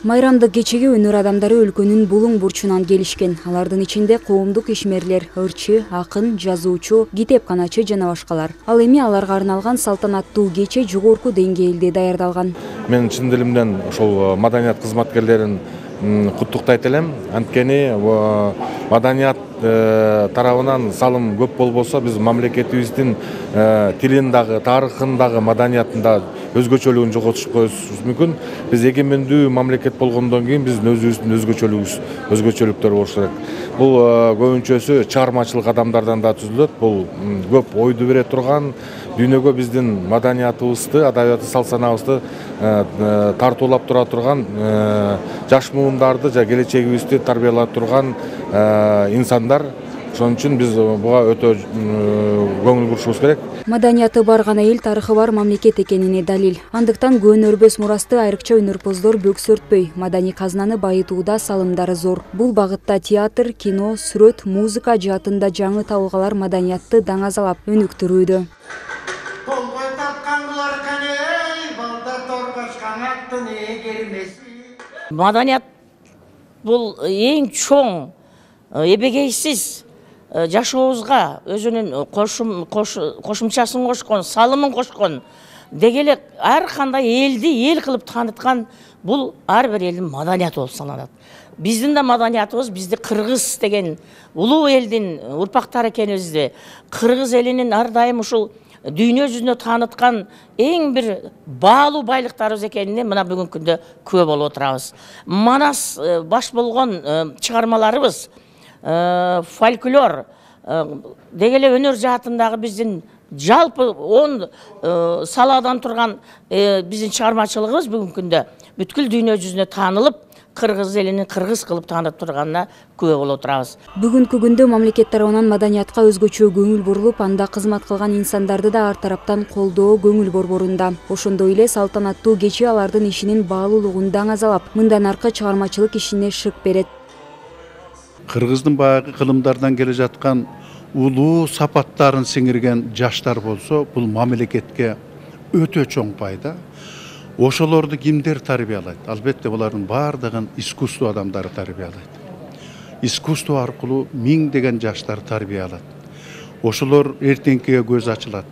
Майрамдык кечеге өнөр адамдары өлкөнүн булуң бурчунан келишкен. Алардын ичинде коомдук ишмерлер, ырчы, акын, жазуучу, китепканачы жана башкалар. Ал эми аларга арналган салтанаттуу кече жогорку деңгээлде даярдалган. Мен чын дилимден ошол маданият кызматкерлерин куттуктайт элем. Анткени маданият тарабынан салым көп болбосо биз мамлекетибиздин тилин дагы, тарыхын дагы, маданиятын да өзгөчөлүгүн жоготуп коюшубуз мүмкүн. Биз эгемендүү мамлекет болгондон кийин биздин өзүбүздүн өзгөчөлүктөр болуш керек. Бул көбүнчөсү чыгармачылык адамдардан да түзүлөт. Бул көп ойду бере турган, дүйнөгө биздин маданиятыбызды, адабият салт санаабызды тартуулап тура турган жаш муундарды жана келечегибизди тарбиялап турган инсандар. Ошон үчүн биз буга өтө көңүл бурушубуз керек. Маданияты бар гана эл тарыхы бар мамлекет экенине далил. Андыктан көөнөрбөс мурасты айрыкча өнөрпоздор бөксөртпөй, маданий казынаны байытууда салымдары зор. Бул багытта театр, кино, сүрөт, музыка жаатында жаңы табылгалар маданиятты даңазалап өнүктүрүүдө. Маданият бул эң чоң, эбегейсиз жашообузга өзүнүн кошумчасын кошкон, салымын кошкон, деги эле ар кандай элди эл кылып тааныткан бул ар бир элдин маданияты болуп саналат. Биздин да маданиятыбыз, бизди кыргыз деген улуу элдин урпактары экенибизди, кыргыз элинин ар дайым ушул дүйнө жүзүнө тааныткан эң бир баалуу байлыктарыбыз экенине мына бүгүнкү күндө күбө болуп отурабыз. Манас баш болгон чыгармаларыбыз, фольклор, деги эле өнөр жаатындагы биздин жалпы 10 саладан турган биздин чыгармачылыгыбыз бүгүнкү күндө бүткүл дүйнө жүзүнө таанылып, кыргыз элинин кыргыз кылып таанып турганына күбө болуп отурабыз. Бүгүнкү күндө мамлекет тарабынан маданиятка өзгөчө көңүл бурулуп, анда кызмат кылган инсандарды да ар тараптан колдоо, көңүл борборунда. Ошондой эле салтанаттуу кече алардын ишинин баалуулугун даңазалап, мындан аркы чыгармачылык ишине шык берет. Кыргыздын баягы кылымдардан келе жаткан улуу сапаттарын сиңирген жаштар болсо, бул мамлекетке өтө чоң пайда. Ошолорду кимдер тарбиялайт? Албетте булардын бардыгын искусство адамдары тарбиялайт. Искусство аркылуу миңдеген жаштар тарбиялат. Ошолор эртеңкиге көз ачылат.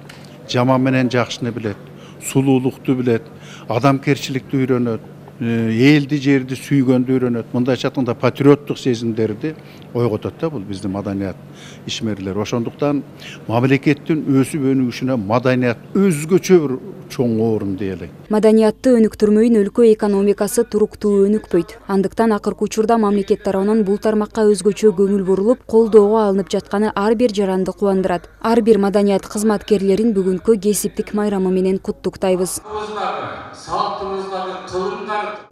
Жаман менен жакшыны билет, сулуулукту билет, адамкерчиликти үйрөнөт, элди жерди сүйгөндү үйрөнөт. Мындайча айтканда патриоттук сезимдерди ойготот да бул биздин маданият ишмерлер. Ошондуктан мамлекеттин өсүп өнүгүшүнө маданият өзгөчө бир чоң орун дей. Маданиятты өнүктүрмөйүн өлкө экономикасы туруктуу өнүкпөйт. Андыктан акыркы учурда мамлекет тарабынан бул тармакка өзгөчө көңүл бурулуп, колдоого алынып жатканы ар бир жаранды кубандырат. Ар бир маданият кызматкерлерин бүгүнкү кесиптик майрамы менен куттуктайбыз.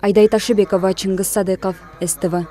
Айдай Ташыбекова, Чыңгыз Садыков, СТВ.